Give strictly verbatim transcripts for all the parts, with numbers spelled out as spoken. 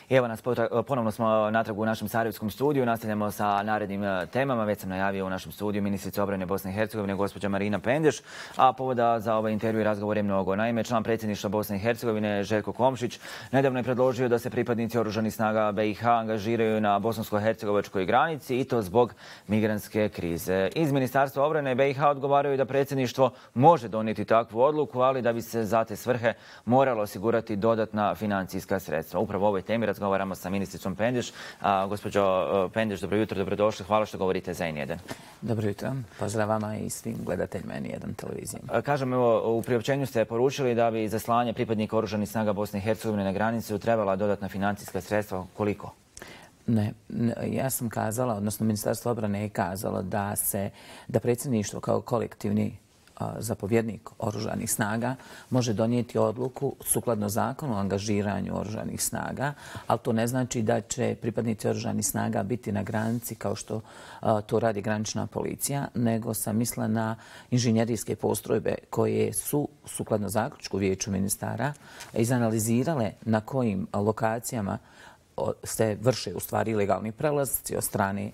Evo nas, ponovno smo natrag u našem sarajevskom studiju. Nastavljamo sa narednim temama. Već sam najavio u našem studiju ministrica obrane Bosne i Hercegovine, gospođa Marina Pendeš. A povoda za ovaj intervju i razgovor je mnogo. Naime, član predsjedništva Bosne i Hercegovine, Željko Komšić, nedavno je predložio da se pripadnici oružanih snaga B i H angažiraju na bosansko-hercegovačkoj granici i to zbog migrantske krize. Iz Ministarstva obrane B i H odgovaraju da predsjedništvo može donijeti takvu odluku, ali da bi se za te svrhe moralo osigurati dodatna financijska sredstva. Upravo o ovoj temi razgovaramo sa ministricom Pendeš. A, gospođo Pendeš, dobro jutro, dobrodošli. Hvala što govorite za N jedan. Dobro jutro. Pozdrav vama i svim gledateljima N jedan televizije. Kažem, evo, u priopćenju ste poručili da bi za slanje pripadnika oružanih snaga Bosne i Hercegovine na granicu trebala dodatna financijska sredstva. Koliko? Ne, ja sam kazala, odnosno Ministarstvo obrane je kazalo da se, da predsjedništvo kao kolektivni zapovjednik oružanih snaga može donijeti odluku sukladno zakonu o angažiranju oružanih snaga, ali to ne znači da će pripadnici oružanih snaga biti na granici kao što to radi granična policija, nego sam mislila na inženjerijske postrojbe koje su sukladno zaključku Vijeću ministara izanalizirale na kojim lokacijama se vrše u stvari ilegalni prelazci od strane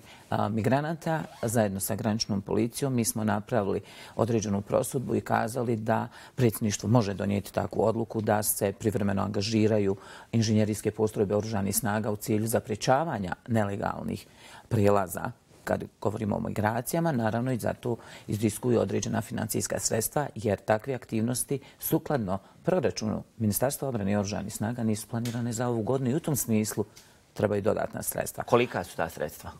migranata. Zajedno sa graničnom policijom mi smo napravili određenu prosudbu i kazali da predsjedništvo može donijeti takvu odluku da se privremeno angažiraju inženjerijske postrojbe oružanih snaga u cilju zapriječavanja nelegalnih prijelaza. Kad govorimo o migracijama, naravno i zato izdiskuju određena financijska sredstva, jer takve aktivnosti sukladno proračunu Ministarstva obrane i oružanih snaga nisu planirane za ovu godinu i u tom smislu trebaju dodatna sredstva. Kolika su ta sredstva?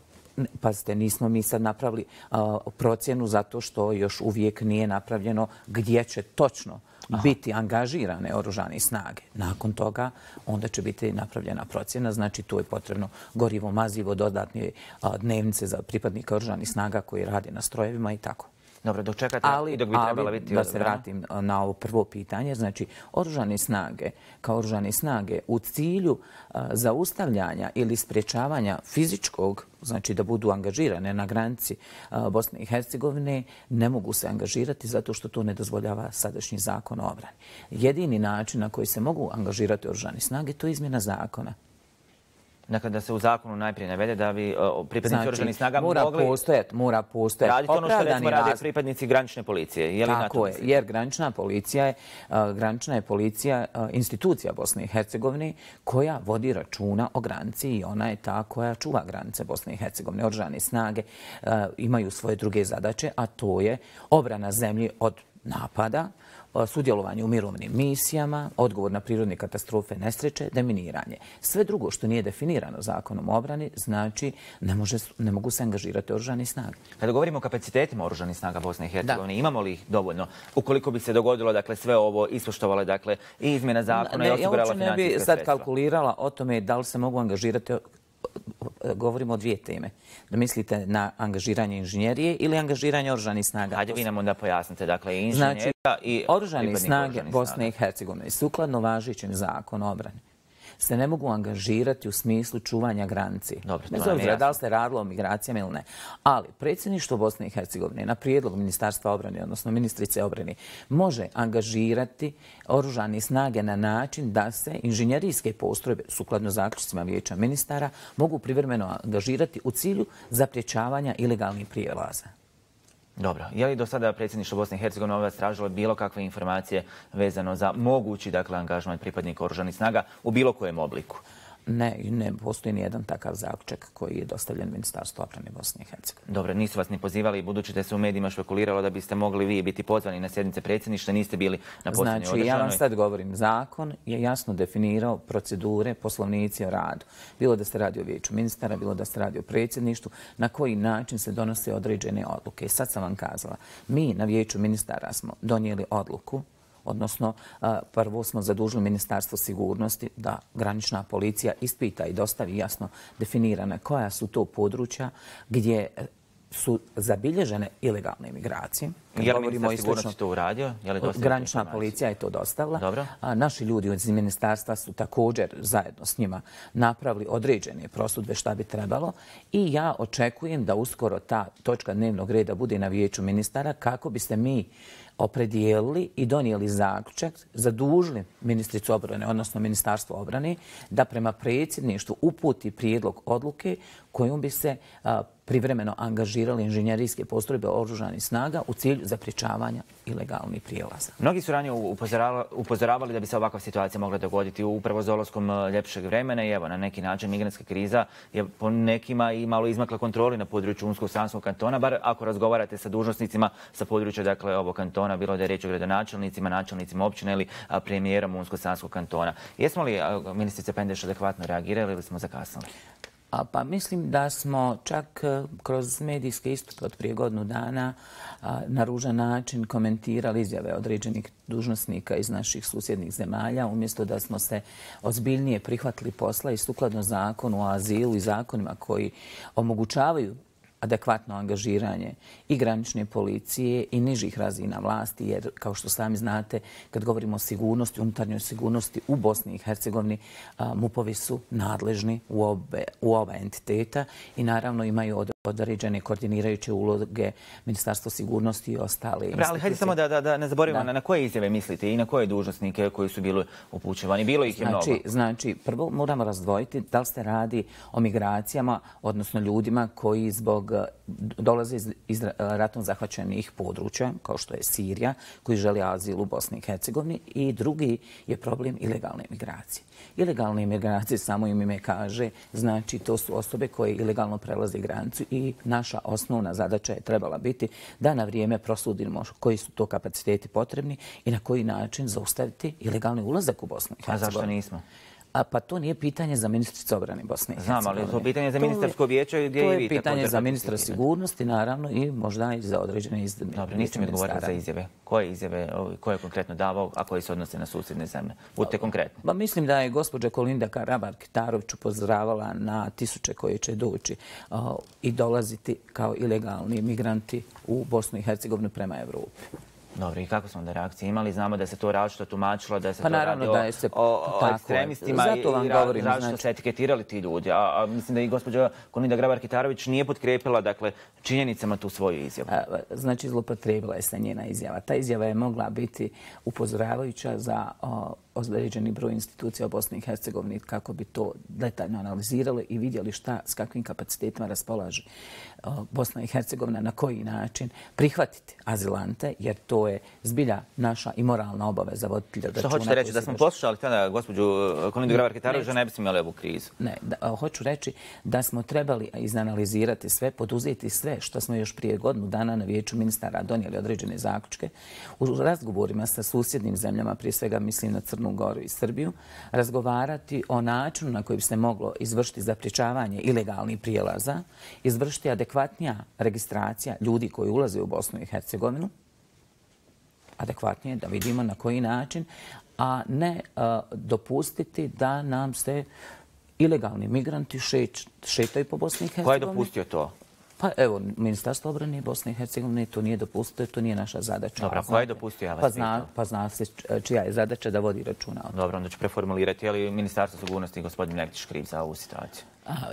Pazite, nismo mi sad napravili uh, procjenu zato što još uvijek nije napravljeno gdje će točno Aha. biti angažirane oružane snage. Nakon toga onda će biti napravljena procjena. Znači tu je potrebno gorivo, mazivo, dodatne uh, dnevnice za pripadnika oružanih snaga koji rade na strojevima i tako. Dobro, dok čekate ali, i dok bi trebala ali, biti da se vratim na ovo prvo pitanje, znači oružane snage kao oružane snage u cilju uh, zaustavljanja ili sprječavanja fizičkog, znači da budu angažirane na granici uh, Bosne i Hercegovine, ne mogu se angažirati zato što to ne dozvoljava sadašnji zakon o obrani. Jedini način na koji se mogu angažirati oružane snage to je izmjena zakona. Dakle, da se u zakonu najprije navede da bi uh, pripadnici znači, oružanih snaga mora mogli postojati, mora postojati raditi ono što recimo rade pripadnici granične policije. Je li Tako je, jer granična policija je, uh, granična je policija uh, institucija Bosne i Hercegovine koja vodi računa o granici i ona je ta koja čuva granice Bosne i Hercegovine. Oružane snage uh, imaju svoje druge zadaće, a to je obrana zemlje od napada, sudjelovanje u mirovnim misijama, odgovor na prirodne katastrofe, nesreće, deminiranje. Sve drugo što nije definirano zakonom o obrani, znači ne, može, ne mogu se angažirati oružani snage. Kada govorimo o kapacitetima oružanih snaga Bosne i Hercegovine, imamo li ih dovoljno? Ukoliko bi se dogodilo dakle, sve ovo, ispoštovale dakle, i izmjena zakona ne, i osigurala financijska sredstva? Ja uopće ne bi sad kalkulirala o tome da li se mogu angažirati. Govorimo o dvije teme. Da mislite na angažiranje inženjerije ili angažiranje oružanih snaga. Hajde vi nam onda pojasnite. Dakle, i inženjerija znači, i oružane snage Bosne i Hercegovine sukladno važećem zakonu o obrani se ne mogu angažirati u smislu čuvanja granici. Bez obzira da li se radilo o migracijama ili ne. Ali predsjedništvo Bosne i Hercegovine na prijedlog Ministarstva obrane, odnosno ministrice obrane, može angažirati oružane snage na način da se inženjerijske postrojbe, sukladno zaključcima Vijeća ministara, mogu privremeno angažirati u cilju zapriječavanja ilegalnih prijelaza. Dobro. Je li do sada predsjedništvo Bosne i Hercegovine od vas tražilo bilo kakve informacije vezano za mogući dakle, angažman pripadnika oružanih snaga u bilo kojem obliku? Ne, ne postoji nijedan takav zaključak koji je dostavljen Ministarstvu obrane Bosne i Hercegovine. Dobro, nisu vas ni pozivali, budući da se u medijima špekuliralo da biste mogli vi biti pozvani na sjednice predsjedništva, niste bili na posljednjoj održanoj. Znači, ja vam sad govorim, zakon je jasno definirao procedure, poslovnici o radu. Bilo da se radi o Vijeću ministara, bilo da se radi o predsjedništvu, na koji način se donose određene odluke. Sad sam vam kazala, mi na Vijeću ministara smo donijeli odluku, odnosno prvo smo zadužili Ministarstvo sigurnosti da granična policija ispita i dostavi jasno definirane koja su to područja gdje su zabilježene ilegalne migracije. Je li ministar sigurnosti to uradio? Granična policija je to dostavila. Naši ljudi iz ministarstva su također zajedno s njima napravili određene prosudbe šta bi trebalo i ja očekujem da uskoro ta točka dnevnog reda bude na vijeću ministara kako biste mi opredijelili i donijeli zaključak, zadužili ministricu obrane, odnosno Ministarstvo obrane, da prema predsjedništvu uputi prijedlog odluke kojom bi se privremeno angažirali inženjerijske postrojbe oružanih snaga u cilju zapriječavanja ilegalnih prijelaza. Mnogi su ranije upozoravali da bi se ovakva situacija mogla dogoditi upravo s dolaskom ljepšeg vremena i evo, na neki način migrantska kriza je po nekima i malo izmakla kontroli na području Unsko-Sanskog kantona, bar ako razgovarate sa dužnosnicima sa područja dakle, ovog kantona, bilo da je riječ o gradonačelnicima, načelnicima općine ili premijerom Unsko-Sanskog kantona. Jesmo li, ministrice Pendeš, adekvatno reagirali ili smo zakasnili? Pa mislim da smo čak kroz medijske istupe od prije godinu dana na ružan način komentirali izjave određenih dužnosnika iz naših susjednih zemalja, umjesto da smo se ozbiljnije prihvatili posla i sukladno zakonu o azilu i zakonima koji omogućavaju adekvatno angažiranje i granične policije i nižih razina vlasti, jer kao što sami znate, kad govorimo o sigurnosti, unutarnjoj sigurnosti u Bosni i Hercegovini, MUP-ovi su nadležni u, obe, u ova entiteta i naravno imaju određene koordinirajuće uloge Ministarstva sigurnosti i ostale institucije. Ali hajde samo da, da, da ne zaboravimo na, na koje izjave mislite i na koje dužnosnike koji su bili upućivani. Bilo ih je znači, mnogo. Znači, prvo moramo razdvojiti da li se radi o migracijama, odnosno ljudima koji zbog dolaze iz, iz ratom zahvaćenih područja, kao što je Sirija, koji žele azil u Bosni i Hercegovini, i drugi je problem ilegalne migracije. Ilegalne migracije, samo im ime kaže, znači to su osobe koje ilegalno prelaze granicu i naša osnovna zadaća je trebala biti da na vrijeme prosudimo koji su to kapaciteti potrebni i na koji način zaustaviti ilegalni ulazak u Bosnu i Hercegovinu. A zašto nismo? A pa to nije pitanje za ministricu obrane Bosne i Hercegovine. Znam, ali je to pitanje za ministarsko vijeće gdje i vi također. To je pitanje za ministra sigurnosti, naravno, i možda i za određene izjave. Dobro, niste mi odgovorili za izjave. Koje izjave, koje je konkretno davao, a koji se odnose na susjedne zemlje? Budite konkretni. Ba, mislim da je gospođa Kolinda Grabar-Kitarović upozoravala na tisuće koje će doći uh, i dolaziti kao ilegalni migranti u Bosnu i Hercegovinu prema Evropi. Dobro, i kako smo onda reakcije imali? Znamo da se to različito tumačilo, da se pa to radi o, se, o, o ekstremistima i, i različito znači... se etiketirali ti ljudi. A, a mislim da i gospođa Kolinda Grabar-Kitarović nije potkrepila dakle, činjenicama tu svoju izjavu. A, znači, zlopotrebila je se njena izjava. Ta izjava je mogla biti upozoravajuća za o, određeni broj institucija u Bosni i Hercegovini kako bi to detaljno analizirali i vidjeli šta, s kakvim kapacitetima raspolaže Bosna i Hercegovina, na koji način prihvatiti azilante, jer to je zbilja naša i moralna obaveza voditelja računa. Što hoćete reći? Da smo poslušali tada gospođu Kolindu Grabar-Kitarović, da ne bismo imali ovu krizu? Ne, da, hoću reći da smo trebali izanalizirati sve, poduzeti sve što smo još prije godinu dana na vijeću ministara donijeli određene zaključke u razgovorima sa susjednim zemljama, prije svega mislim na Crnu Goru i Srbiju, razgovarati o načinu na koji bi se moglo izvršiti zapriječavanje ilegalnih prijelaza, izvršiti adekvatnija registracija ljudi koji ulaze u Bosnu i Hercegovinu, adekvatnije da vidimo na koji način, a ne uh, dopustiti da nam se ilegalni migranti šeć, šetaju po Bosni i Hercegovini. Ko je dopustio to? Pa evo, Ministarstvo obrane Bosne i Hercegovine to nije dopustio, to nije naša zadaća. Dobro, ko je dopustio? Ja vas pa, zna, pa zna se čija je zadaća da vodi računa o tome. Dobro, onda ću preformulirati. Je li Ministarstvo sigurnosti i gospodin Mektić kriv za ovu situaciju?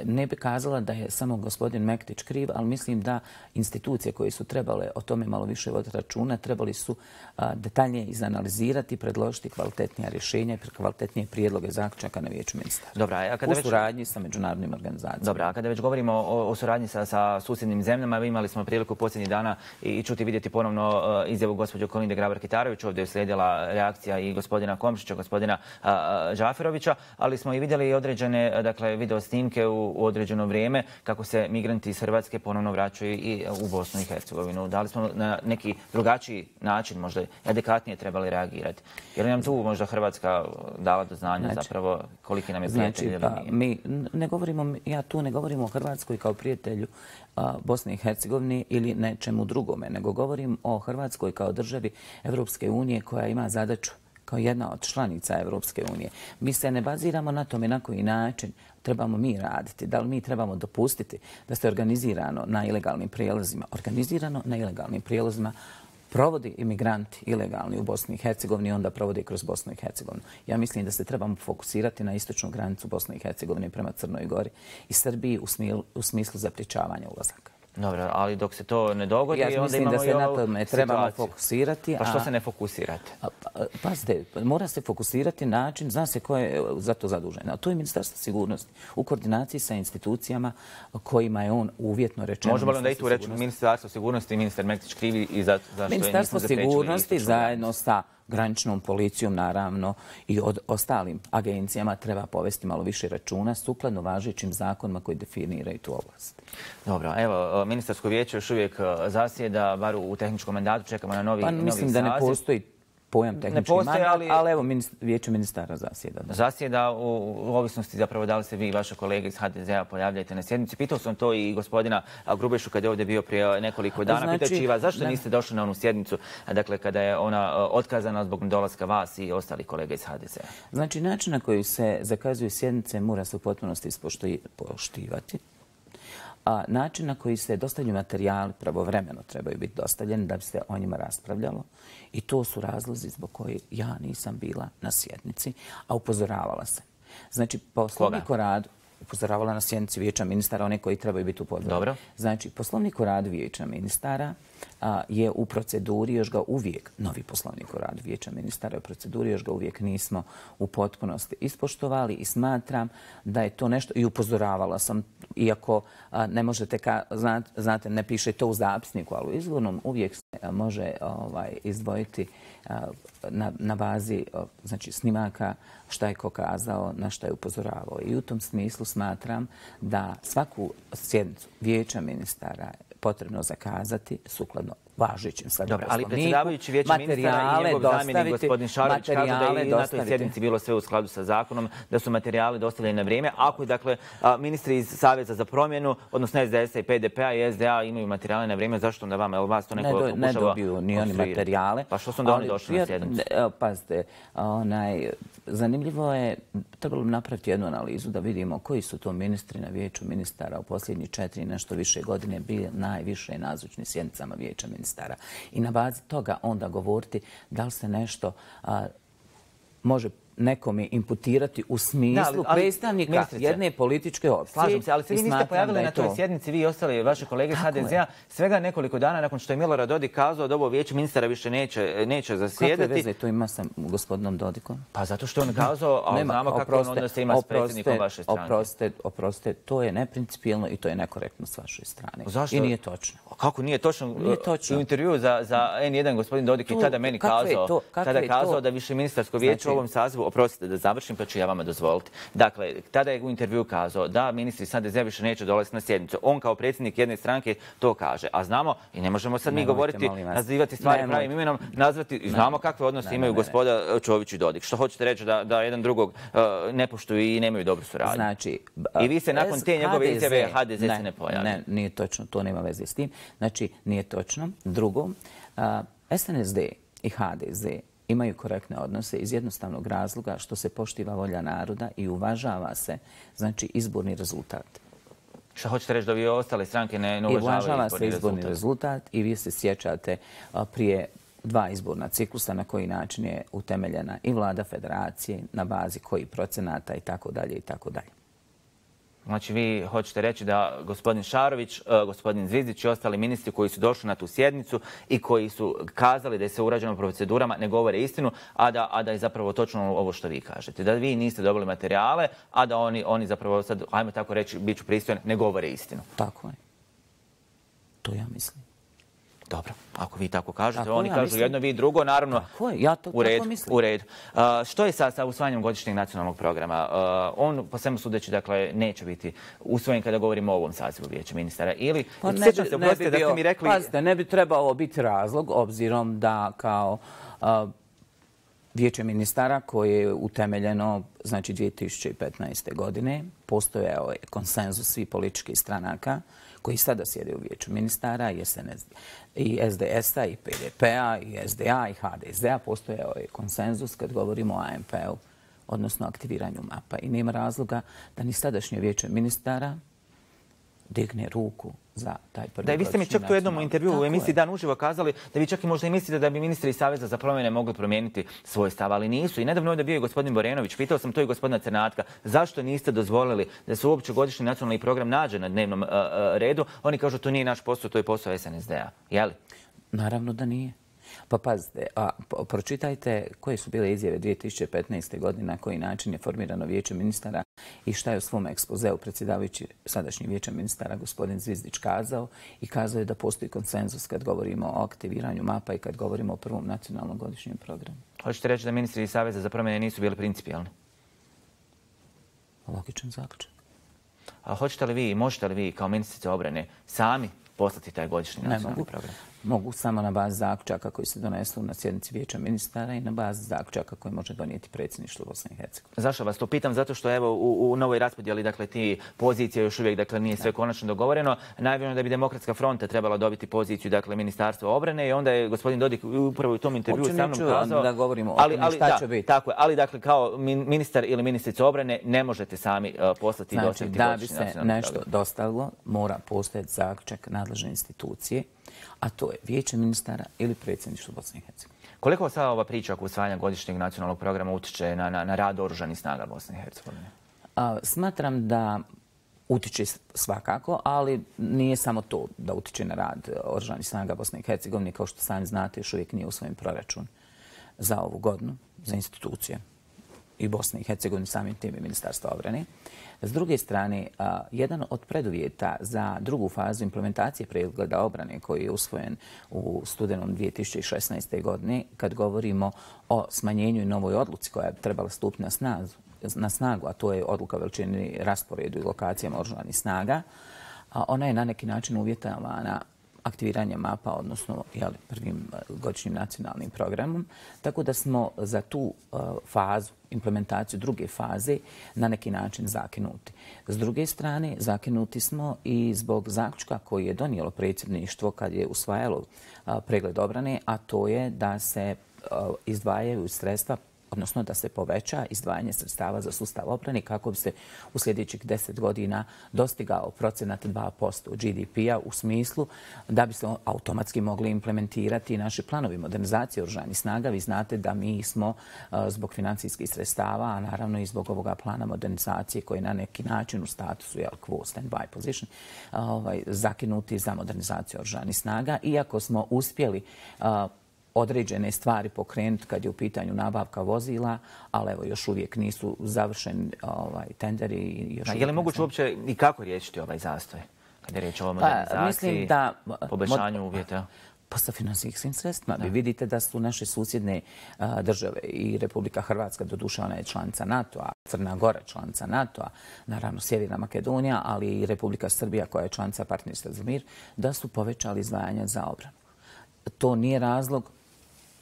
Ne bi kazala da je samo gospodin Mektić kriv, ali mislim da institucije koje su trebale o tome malo više voditi računa, trebali su detaljnije izanalizirati i predložiti kvalitetnija rješenja i kvalitetnije prijedloge zaključaka na vijeću ministara. Dobro, a kada u suradnji sa međunarodnim organizacijama. Dobro, a kada već govorimo o, o suradnji sa, sa susjednim zemljama, imali smo priliku posljednjih dana i čuti vidjeti ponovno uh, izjavu gospođe Kolinde Grabar-Kitarović. Ovdje je slijedila reakcija i gospodina Komšića, gospodina uh, Džaferovića, ali smo i vidjeli i određene dakle, video snimke u, u određeno vrijeme kako se migranti iz Hrvatske ponovno vraćaju i u Bosnu i Hercegovinu. Da li smo na neki drugačiji način, možda adekvatnije trebali reagirati? Jer nam tu možda Hrvatska dala do znanja znači, zapravo koliki nam je prijatelj ili znači, pa, mi ne govorimo, ja tu ne govorim o Hrvatskoj kao prijatelju a, Bosne i Hercegovine ili nečemu drugome, nego govorim o Hrvatskoj kao državi Evropske unije koja ima zadaću kao jedna od članica Evropske unije. Mi se ne baziramo na tome na koji način trebamo mi raditi. Da li mi trebamo dopustiti da se organizirano na ilegalnim prijelazima, organizirano na ilegalnim prijelazima provodi imigranti ilegalni u Bosni i Hercegovini i onda provodi kroz Bosnu i Hercegovinu. Ja mislim da se trebamo fokusirati na istočnu granicu Bosne i Hercegovine prema Crnoj Gori i Srbiji u smislu zapriječavanja ulazaka. Dobro, ali dok se to ne dogodi, ja onda imamo i ovu situaciju. Ja mislim da se na tome trebamo fokusirati. Pa što se ne fokusirate? Pazite, mora se fokusirati način, zna se ko je za to zadužen. A to je Ministarstvo sigurnosti u koordinaciji sa institucijama kojima je on uvjetno rečeno. Možemo li da i tu reći Ministarstvo sigurnosti i ministar Mektić krivi i za što je nismo zapriječili? Ministarstvo sigurnosti zajedno sa graničnom policijom, naravno, i od ostalim agencijama treba povesti malo više računa sukladno važećim zakonima koji definiraju tu oblast. Dobro, evo, ministarsko vijeće još uvijek zasjeda, bar u tehničkom mandatu, čekamo na novi saziv. Pa mislim da ne postoji pojam tehnički mandat, ali evo vijeće ministara zasjeda. Zasjeda u ovisnosti zapravo da li se vi i vaše kolege iz ha de zea pojavljajte na sjednici. Pitao sam to i gospodina Grubešu kad je ovdje bio prije nekoliko dana. Pitajući vas zašto niste došli na onu sjednicu, dakle kada je ona otkazana zbog dolaska vas i ostalih kolega iz ha de zea. Znači način na koji se zakazuju sjednice mora se u potpunosti ispoštivati. A način na koji se dostavljaju materijali pravovremeno trebaju biti dostavljeni da bi se o njima raspravljalo. I to su razlozi zbog koji ja nisam bila na sjednici, a upozoravala sam. Znači, poslovnik o radu upozoravala na sjednici vijeća ministara, one koji trebaju biti upozoreni. Dobro. Znači, poslovnik o radu vijeća ministara je u proceduri, još ga uvijek, novi poslovnik o radu vijeća ministara je u proceduri, još ga uvijek nismo u potpunosti ispoštovali i smatram da je to nešto, i upozoravala sam, iako ne možete, znate, ne piše to u zapisniku, ali u izvornom uvijek se može izdvojiti na bazi snimaka šta je ko kazao, na šta je upozoravao. I u tom smislu smatram da svaku sjednicu vijeća ministara potrebno zakazati sukladno važećim sada poslovniku. Ali predsjedavajući vijeća ministara i njegov zamjenik gospodin Šarović kažu da je i na toj sjednici bilo sve u skladu sa zakonom, da su materijali dostavljeni na vrijeme. Ako dakle ministri iz Saveza za promjenu, odnosno es de es a i pe de pe-a i es de a imaju materijale na vrijeme, zašto onda vama? Jel vas to neko pokušava? Ne dobiju ni oni materijale. Pa što su onda oni došli na sjednicu? Pazite, zanimljivo je, trebalo bi napraviti jednu analizu da vidimo koji su to ministri na vijeću ministara u posljednjih četiri nešto više godine bili najviše nazočni sjednicama vijeća ministara. I na bazi toga onda govoriti da li se nešto može nekome imputirati u smislu predstavnika jedne političke opcije. Slažem se, ali se vi niste pojavili na toj sjednici, vi i ostali vaše kolege iz ha de zea, svega nekoliko dana nakon što je Milorad Dodik kazao da ovo vijeće ministara više neće zasjedati. Kakve veze to ima sa gospodinom Dodikom? Pa zato što on kazao, a znamo kako on onda se ima s predsjednikom vaše strane. Oprostite, to je neprincipijelno i to je nekorektno s vaše strane. Zašto? I nije točno. Kako nije točno? U intervju za en jedan gospodin Dodik je tada meni kazao, tada kazao da više ministarsko vijeće u ovom sazivu, oprostite da završim, pa ću ja vama dozvoliti. Dakle, tada je u intervju kazao da ministri iz ha de zea više neće dolaziti na sjednicu. On kao predsjednik jedne stranke to kaže. A znamo, i ne možemo sad mi govoriti, nazivati stvari pravim imenom, nazvati, i znamo kakve odnose imaju gospoda Čović i Dodik. Što hoćete reći da jedan drugog ne poštuju i nemaju dobru suradnju? I vi se nakon te njegove izjave ha de zea se ne pojavi. Ne, nije točno, to nema veze s tim. Znači, nije točno. Drugo, es en es de i ha de ze imaju korektne odnose iz jednostavnog razloga što se poštiva volja naroda i uvažava se, znači, izborni rezultat. Što hoćete reći da vi ostale stranke ne uvažavaju izborni rezultat? I uvažava se izborni rezultat i vi se sjećate prije dva izborna ciklusa na koji način je utemeljena i vlada federacije, na bazi koji procenata i tako dalje i tako dalje. Znači, vi hoćete reći da gospodin Šarović, gospodin Zvizdić i ostali ministri koji su došli na tu sjednicu i koji su kazali da je sve urađeno procedurama ne govore istinu, a da, a da je zapravo točno ovo što vi kažete. Da vi niste dobili materijale, a da oni, oni zapravo sad, ajmo tako reći, bit ću pristojan, ne govore istinu. Tako je. To ja mislim. Dobro, ako vi tako kažete, oni kažu jedno, vi drugo, naravno, u redu. U redu. Što je sa usvajanjem godišnjeg nacionalnog programa? On, po svemu sudeći, dakle, neće biti usvojen kada govorimo o ovom sazivu vijeća ministara. Ili, sjećam se, oprostite da ste mi rekli... Pazite, ne bi trebalo biti razlog, obzirom da kao vijeće ministara koje je utemeljeno, znači dvije tisuće petnaeste. godine, postojao je konsenzus svih političkih stranaka koji sada sjede u vijeću ministara i S D S-a i P D P-a i S D A i H D S-a postojao je konsenzus kad govorimo o A M P-u, odnosno aktiviranju mapa. I nema razloga da ni sadašnje vijeće ministara digne ruku za taj prvi Da, i vi ste mi čak tu jednom intervju u emisiji Dan uživo kazali da vi čak i možda i mislite da bi ministri iz Saveza za promjene mogli promijeniti svoj stav, ali nisu. I nedavno ovdje bio i gospodin Borenović, pitao sam to i gospodina Crnatka, zašto niste dozvolili da se uopće godišnji nacionalni program nađe na dnevnom uh, uh, redu? Oni kažu to nije naš posao, to je posao S N S D-a. Je li? Naravno da nije. Pa pazite, a, pročitajte koje su bile izjave dvije tisuće petnaeste. godine, na koji način je formirano vijeće ministara i šta je u svom ekspozeu predsjedavajući sadašnji vijeće ministara gospodin Zvizdić kazao i kazao je da postoji konsenzus kad govorimo o aktiviranju mapa i kad govorimo o prvom nacionalnom godišnjem programu. Hoćete reći da ministri iz Saveza za promjene nisu bili principijalni? Logičan zaključak. A hoćete li vi, možete li vi kao ministrica obrane sami poslati taj godišnji nacionalni program? Mogu samo na bazi zaključaka koji se donesu na sjednici vijeća ministara i na bazi zaključaka koji može donijeti predsjedništvo Bosne i Hercegovine. Zašto vas to pitam? Zato što evo u, u novoj raspodjeli dakle ti pozicije još uvijek dakle nije sve konačno dogovoreno. Najavljeno da bi Demokratska fronta trebala dobiti poziciju dakle Ministarstva obrane i onda je gospodin Dodik upravo u tom intervjuu sa mnom kazao da govorimo o ali, tome ali, šta da, će biti. Tako je, ali dakle kao ministar ili ministrica obrane ne možete sami uh, poslati i znači, dostaviti da godišnji bi se nacionalni nešto program. dostavilo, mora postojati zaključak nadležne institucije, a to je vijeće ministara ili predsjedništvo Bosne i Hercegovine. Koliko sada ova priča oko usvajanja godišnjeg nacionalnog programa utiče na, na, na rad oružanih snaga Bosne i Hercegovine? A, smatram da utiče svakako, ali nije samo to da utiče na rad oružanih snaga Bosne i Hercegovine. Kao što sami znate, još uvijek nije usvojen proračun za ovu godinu, za institucije i Bosne i Hercegovine, samim tim i Ministarstva obrane. S druge strane, a, jedan od preduvjeta za drugu fazu implementacije pregleda obrane koji je usvojen u studenom dvije tisuće šesnaeste. godine, kad govorimo o smanjenju i novoj odluci koja je trebala stupiti na snagu, na snagu, a to je odluka o veličini, rasporedu i lokacijama oružanih snaga, a ona je na neki način uvjetovana aktiviranje mapa, odnosno jeli, prvim godišnjim nacionalnim programom. Tako da smo za tu uh, fazu, implementaciju druge faze, na neki način zakinuti. S druge strane, zakinuti smo i zbog zaključka koji je donijelo predsjedništvo kad je usvajalo uh, pregled obrane, a to je da se uh, izdvajaju sredstva, odnosno da se poveća izdvajanje sredstava za sustav obrane kako bi se u sljedećih deset godina dostigao procenat dva posto G D P-a u smislu da bi se automatski mogli implementirati naši planovi modernizacije oružanih snaga. Vi znate da mi smo zbog financijskih sredstava, a naravno i zbog ovoga plana modernizacije koji je na neki način u statusu jel, quo stand-by position, ovaj, zakinuti za modernizaciju oružanih snaga. Iako smo uspjeli određene stvari pokrenuti kad je u pitanju nabavka vozila, ali evo još uvijek nisu završeni ovaj, tenderi. I još A je li moguće uopće i kako riješiti ovaj zastoj? Kad je riječ o modernizaciji, pa, da, poboljšanju uvjeta? Pa sa financijskim sredstvima. Vi vidite da su naše susjedne a, države i Republika Hrvatska, doduše ona je članica NATO-a, Crna Gora članica NATO-a, naravno Sjeverna Makedonija, ali i Republika Srbija koja je članica Partnerstva za mir, da su povećali izdvajanja za obranu. To nije razlog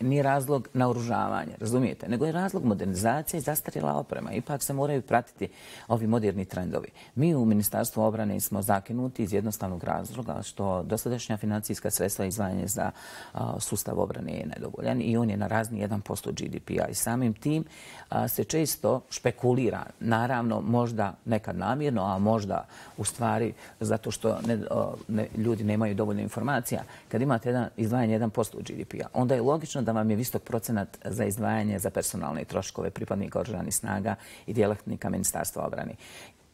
nije razlog naoružavanja, razumijete, nego je razlog modernizacije i zastarjela oprema. Ipak se moraju pratiti ovi moderni trendovi. Mi u Ministarstvu obrane smo zakinuti iz jednostavnog razloga što dosadašnja financijska sredstva izdvajanja za a, sustav obrane je nedovoljan i on je na razni jedan posto G D P-a i samim tim a, se često špekulira, naravno možda nekad namjerno, a možda u stvari zato što ne, a, ne, ljudi nemaju dovoljno informacija. Kad imate jedan, izdvajanje jedan posto G D P-a, onda je logično da vam je visok procenat za izdvajanje za personalne troškove pripadnika oružanih snaga i djelatnika Ministarstva obrane.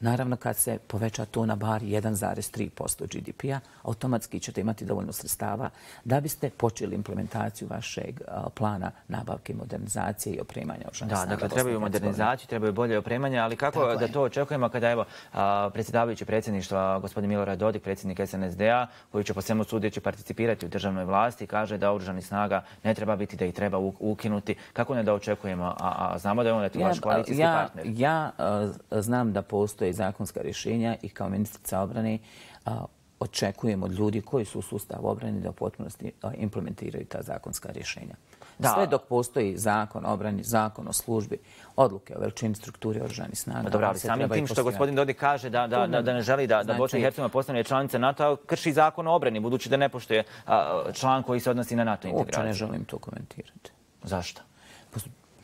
Naravno, kad se poveća to na bar jedan zarez tri posto G D P-a, automatski ćete imati dovoljno sredstava da biste počeli implementaciju vašeg uh, plana nabavke i modernizacije i opremanja oružanih snaga. Da, dakle, trebaju modernizaciju, trebaju bolje opremanje, ali kako Tako da je. to očekujemo kada evo predsjedavajući predsjedništva gospodin Milorad Dodik, predsjednik S N S D-a, koji će po svemu sudeći participirati u državnoj vlasti, kaže da oružanih snaga ne treba biti, da ih treba ukinuti. Kako ne da očekujemo, a, a znamo da je on tu vaš koalicijski ja, partner? Ja uh, znam da postoje zakonska rješenja i kao ministrica obrane uh, očekujem od ljudi koji su u sustavu obrane da u potpunosti implementiraju ta zakonska rješenja. Da. Sve dok postoji zakon o obrani, zakon o službi, odluke o veličini strukturi oružanih snaga. Dobro, ali samim tim što gospodin Dodik kaže da, da, da, da ne želi da, da Bosna i Hercegovina postane članica NATO-a, krši zakon o obrani, budući da ne poštuje a, član koji se odnosi na NATO integraciju. Uopće ne želim to komentirati. Zašto?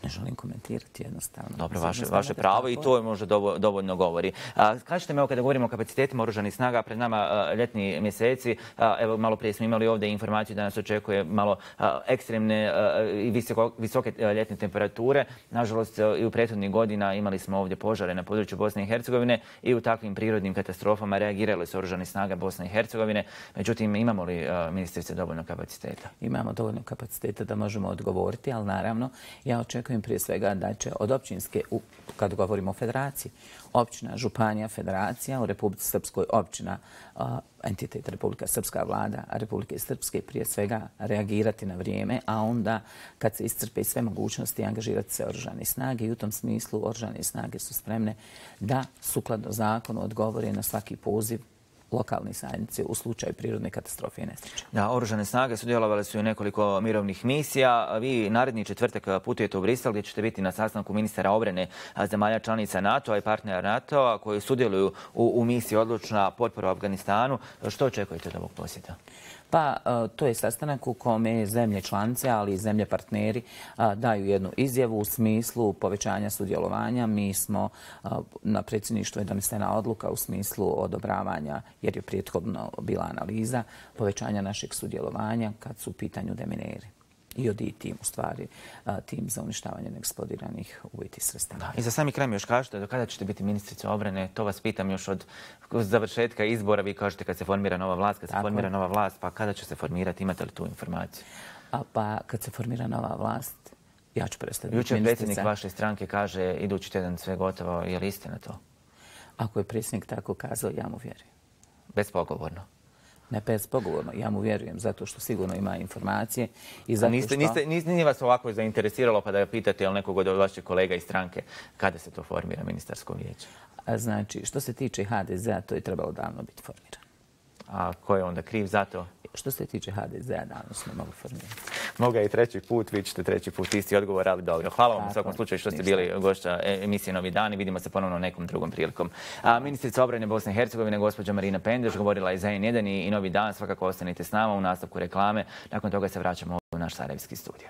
Ne želim komentirati jednostavno. Dobro, vaše, vaše pravo i to je možda dovoljno govori. A, kažete mi, evo kada govorimo o kapacitetima oružanih snaga, pred nama a, ljetni mjeseci, a, evo malo prije smo imali ovdje informaciju da nas očekuje malo a, ekstremne a, i visoko, visoke a, ljetne temperature. Nažalost, a, i u prethodnih godina imali smo ovdje požare na području Bosne i Hercegovine i u takvim prirodnim katastrofama reagirali su oružane snage Bosne i Hercegovine. Međutim, imamo li, a, ministrice, dovoljno kapaciteta? Imamo dovoljno kapaciteta da možemo odgovoriti, ali naravno ja očekujem prije svega da će od općinske, kad govorimo o federaciji, općina, županija, federacija, u Republici Srpskoj općina, entitet Republika Srpska vlada, a Republike Srpske prije svega reagirati na vrijeme, a onda kad se iscrpe sve mogućnosti angažirati se oružane snage i u tom smislu oružane snage su spremne da sukladno zakonu odgovore na svaki poziv lokalne zajednice u slučaju prirodne katastrofe i nesreće. Da, oružane snage sudjelovale su u nekoliko mirovnih misija. Vi naredni četvrtak putujete u Brisel gdje ćete biti na sastanku ministara obrane zemalja članica NATO-a i partnera NATO-a koji sudjeluju u, u misiji Odlučna potpora u Afganistanu. Što očekujete od ovog posjeta? Pa to je sastanak u kome zemlje članice, ali i zemlje partneri daju jednu izjavu u smislu povećanja sudjelovanja. Mi smo na predsjedništvu je donesena odluka u smislu odobravanja, jer je prethodno bila analiza, povećanja našeg sudjelovanja kad su u pitanju demineri. I od tim, u stvari, tim za uništavanje neeksplodiranih ubojitih sredstava. I za sami kraj mi još kažete, do kada ćete biti ministrica obrane? To vas pitam još od završetka izbora. Vi kažete kad se formira nova vlast, kad se formira nova vlast, pa kada će se formirati? Imate li tu informaciju? A pa kad se formira nova vlast, ja ću prestati biti ministrica. Jučer predsjednik vaše stranke kaže idući tjedan sve gotovo. Je li istina to? Ako je predsjednik tako kazao, ja mu vjerujem. Bespogovorno? Ne bespogovorno, ja mu vjerujem zato što sigurno ima informacije i zato niste, što... Niste, niste, nije vas ovako zainteresiralo pa da pitate ili nekog od vaših kolega iz stranke kada se to formira ministarsko vijeće? A znači, što se tiče ha de zea, to je trebalo davno biti formirano. A ko je onda kriv za to? Što se tiče ha de zea, davno smo mogli formirati. Moga i treći put, vi ćete treći put isti odgovor, ali dobro. Hvala vam u svakom slučaju što ste bili gošća emisije Novi dani. Vidimo se ponovno nekom drugom prilikom. A ministrica obrane Bosne i Hercegovine, gospođa Marina Pendeš, govorila je za en jedan i Novi dan. Svakako ostanite s nama u nastavku reklame. Nakon toga se vraćamo u naš sarajevski studio.